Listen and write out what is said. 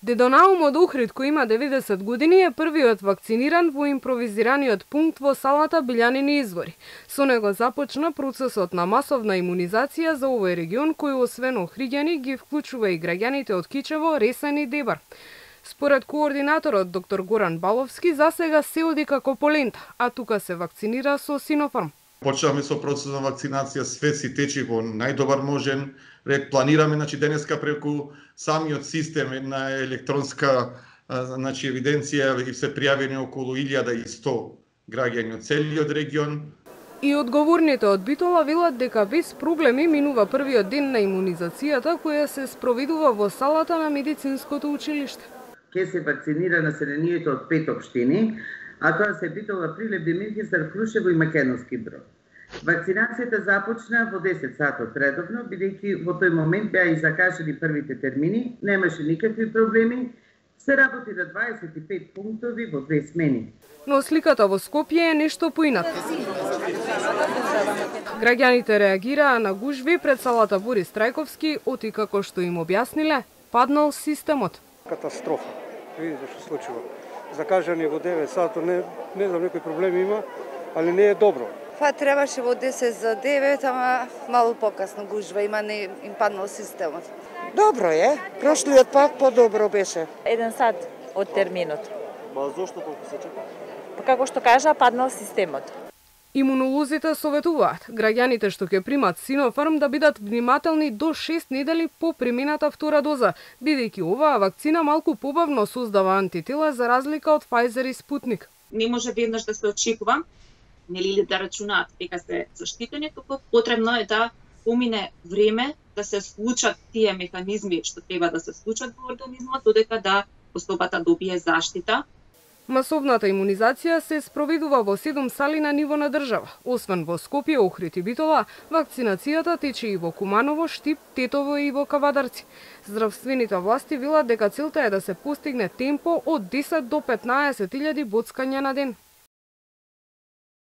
Дедо Наум од Охрид, кој има 90 години, е првиот вакциниран во импровизираниот пункт во салата Билјанини извори. Со него започна процесот на масовна имунизација за овој регион, кој освен охриѓани ги вклучува и граѓаните од Кичево, Ресен и Дебар. Според координаторот доктор Горан Баловски, засега се оди како по лента, а тука се вакцинира со Синофарм. Почнавме со процесот на вакцинација, све си течи во најдобар можен ред. Планираме денеска преку самиот систем на електронска евиденција и се пријавени околу 1100 граѓани од целиот регион. И одговорните од Битола велат дека без проблеми минува првиот ден на имунизацијата која се спроведува во салата на медицинското училиште. Ке се вакцинира населението од 5 општини, а тоа се Битола, Прилеп, Демирхистар, Крушево и Македонски Брод. Вакцинацијата започна во 10 сатот редовно, бидејќи во тој момент беа и закажани првите термини, немаше никакви проблеми, се работи на 25 пунктови во 2 смени. Но сликата во Скопје е нешто поината. Граѓаните реагираа на гужви пред салата Борис Трајковски, оти како што им објасниле, паднал системот. Катастрофа. Видите што случува. Закажани во 9 сато, не знам, некои проблеми има, али не е добро. Па требаше во 10 за 9, ама малку покасно гужва има, не им паднал системот. Добро е, прошлиот пак подобро беше. 1 сат од терминот. Ма зошто колку се чека? Па како што кажа, паднал системот. Имунолозите советуваат граѓаните што ќе примат Синофарм да бидат внимателни до 6 недели по примената втора доза, бидејќи оваа вакцина малку побавно создава антитела за разлика од Pfizer и Спутник. Не може веднаш да се очекува, нели да рачунаат дека се заштитени, туку потребно е да помине време да се случат тие механизми што треба да се случат во организмот, додека да особата добие заштита. Масовната имунизација се спроведува во 7 сали на ниво на држава. Освен во Скопје, Охрид и Битола, вакцинацијата тече и во Куманово, Штип, Тетово и во Кавадарци. Здравствените власти велат дека целта е да се постигне темпо од 10 до 15.000 боцкања на ден.